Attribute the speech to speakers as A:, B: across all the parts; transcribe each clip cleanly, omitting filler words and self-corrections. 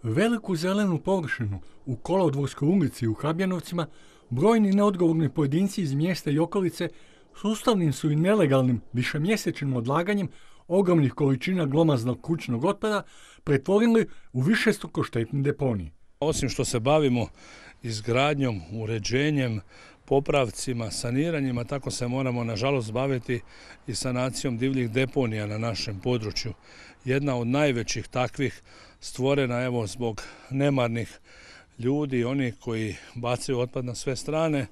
A: Veliku zelenu površinu u Kolodvorskoj ulici u Habjanovcima brojni neodgovorni pojedinci iz mjesta i okolice sustavnim su i nelegalnim višemjesečnim odlaganjem ogromnih količina glomaznog kućnog otpada pretvorili u višestruko štetni deponij.
B: Osim što se bavimo izgradnjom, uređenjem, popravcima, saniranjima, tako se moramo nažalost baviti i sanacijom divljih deponija na našem području. Jedna od najvećih takvih stvorena zbog nemarnih ljudi, oni koji bacaju otpad na sve strane,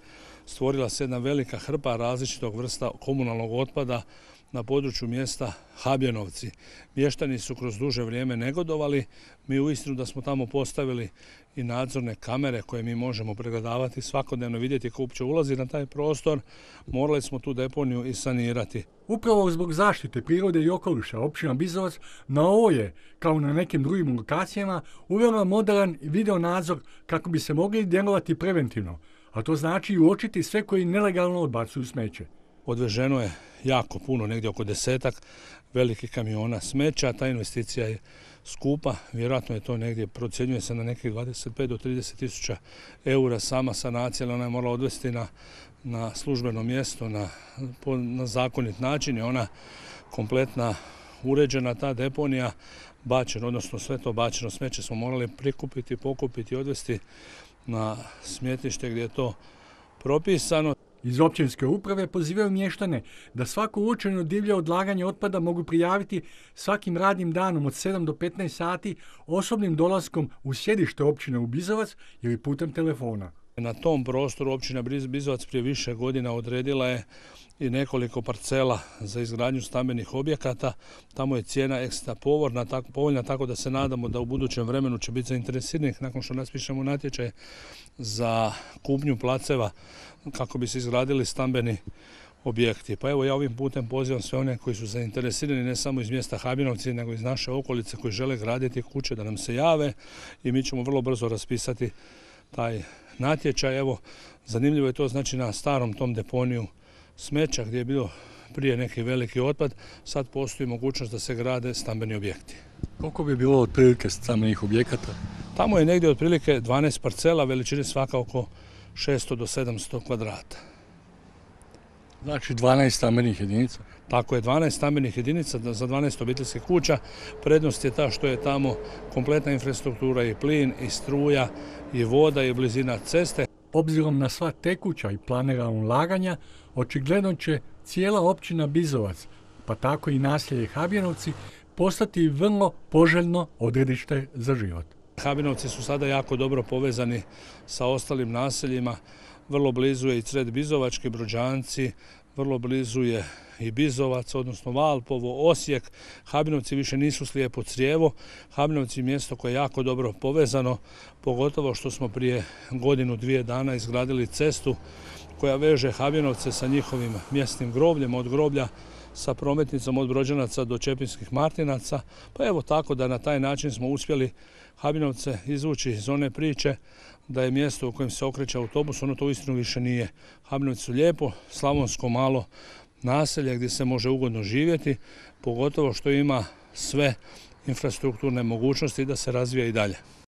B: stvorila se jedna velika hrpa različitog vrsta komunalnog otpada na području mjesta Habjanovci. Mještani su kroz duže vrijeme negodovali. Mi uistinu da smo tamo postavili i nadzorne kamere koje mi možemo pregledavati, svakodnevno vidjeti ko uopće ulazi na taj prostor, morali smo tu deponiju i sanirati.
A: Upravo zbog zaštite prirode i okoliša općina Bizovac na ovo je, kao na nekim drugim lokacijama, uvela moderan video nadzor kako bi se mogli djelovati preventivno, a to znači uočiti sve koji nelegalno odbacuju smeće.
B: Odveženo je jako puno, negdje oko 10 velikih kamiona smeća. Ta investicija je skupa, vjerojatno je to negdje, procjenjuje se na nekih 25 do 30 tisuća eura sama sanacija, ali ona je morala odvesti na službeno mjesto, na zakonit način. Je ona kompletna uređena, ta deponija, bačeno, odnosno sve to bačeno smeće smo morali prikupiti, pokupiti i odvesti na smetlište gdje je to propisano.
A: Iz općinske uprave pozivaju mještane da svako uočeno divlje odlaganje otpada mogu prijaviti svakim radnim danom od 7 do 15 sati osobnim dolaskom u sjedište općine u Bizovac ili putem telefona.
B: Na tom prostoru općina Bizovac prije više godina odredila je i nekoliko parcela za izgradnju stambenih objekata. Tamo je cijena ekstra povoljna, tako da se nadamo da u budućem vremenu će biti zainteresiranih nakon što raspišemo natječaj za kupnju placeva kako bi se izgradili stambeni objekti. Pa evo ja ovim putem pozivam sve one koji su zainteresirani ne samo iz mjesta Habjanovci nego iz naše okolice koji žele graditi kuće da nam se jave i mi ćemo vrlo brzo raspisati taj natječaj. Evo, zanimljivo je to, znači na starom tom deponiju smeća gdje je bilo prije neki veliki otpad, sad postoji mogućnost da se grade stambeni objekti.
A: Koliko bi bilo otprilike stambenih objekata?
B: Tamo je negdje otprilike 12 parcela, veličine svaka oko 600 do 700 kvadrata.
A: Znači 12 stambenih jedinica?
B: Tako je, 12 stambenih jedinica za 12 obiteljskih kuća. Prednost je ta što je tamo kompletna infrastruktura i plin, i struja, i voda, i blizina ceste.
A: Obzirom na sva tekuća i planirana ulaganja, očigledno će cijela općina Bizovac, pa tako i naselje Habjanovci, postati vrlo poželjno odredište za život.
B: Habjanovci su sada jako dobro povezani sa ostalim naseljima. Vrlo blizu je i Cret Bizovački, Brođanci, vrlo blizu je i Bizovac, odnosno Valpovo, Osijek. Habjanovci više nisu slijepo crijevo. Habjanovci je mjesto koje je jako dobro povezano, pogotovo što smo prije godinu, 2 dana izgradili cestu koja veže Habjanovce sa njihovim mjesnim grobljem, od groblja sa prometnicom od Brođanaca do Čepinskih Martinaca. Pa evo tako da na taj način smo uspjeli Habjanovce izvući iz one priče da je mjesto u kojem se okreće autobus, ono to uistinu više nije. Habjanovci su lijepo, slavonsko malo naselje gdje se može ugodno živjeti, pogotovo što ima sve infrastrukturne mogućnosti da se razvija i dalje.